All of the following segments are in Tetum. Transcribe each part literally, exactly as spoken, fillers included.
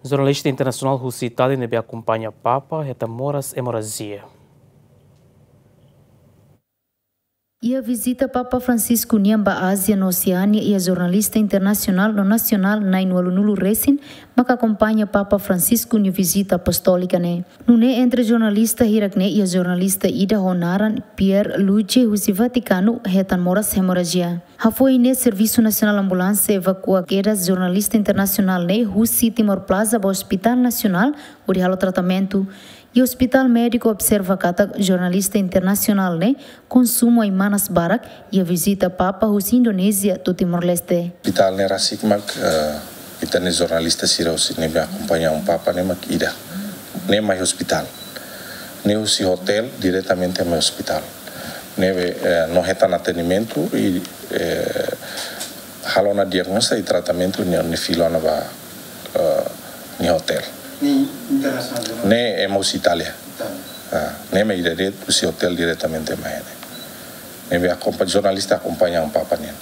Jornalista internasionál husi Itália ne'ebé akompaña Papa hetan moras hemorrajia. Iha vizita Papa Francisco nian ba Ázia no Oseánia iha jornalista internasionál no nasionál na'in-ualunulu resin maka akompaña Papa Francisco nia vizita apostólika ne'e. Nune'e entre jornalista hirak ne'e iha jornalista ida ho naran Pierluigi husi Vatikanu hetan moras hemorrajia. Hafoin ne'e Servisu Nasionál Ambulánsia evakua kedas jornalista internasionál ne'e husi Timor Plaza ba Ospitál Nasionál hodi halo tratamentu. Iha ospitál médiku observa katak jornalista internasionál ne'e konsumu ai-manas barak iha vizita Papa husi Indonézia to'o Timor-Leste. Ospitál ne'e rasik mak, eh, ita-nia jornalista sira husi ne'ebé akompaña Papa ne'e mak ida. Ne'e mai ospitál. Ne'e husi hotel diretamente mai ospitál. Ne'ebé, eh, no hetan atendimentu i, eh, halo ona diagnoza i tratamentu ne'e, ne'e fila ona ba, eh, nia hotel. Ne'e internasionál, ne'e? Ne'e ema husi Itália. Itália. Ah, ne'e mai ida de'it husi hotel diretamente mai ne'e. Ne'ebé akompa-, jornalista akompaña Papa nian.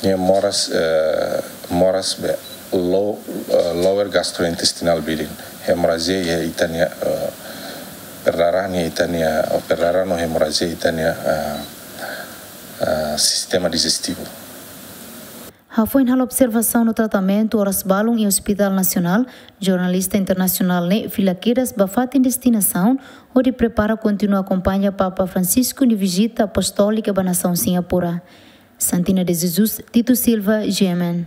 Nia moras, eh, moras be low, eh, lower gastrointestinal bleeding. Hemorrajia iha ita-nia, eh, perdarahan iha ita-nia, eh, perdarahan no hemorrajia iha ita-nia, eh, eh, sistema dijestivu. Hafoin halo observasaun no tratamentu oras balun iha Ospitál Nasionál, jornalista internasionál ne'e fila kedas ba fatin destinasaun hodi prepara kontinua akompaña Papa Francisco nia vizita apostólika ba nasaun Singapura. Santina de Jesus, Tito Silva, G M N.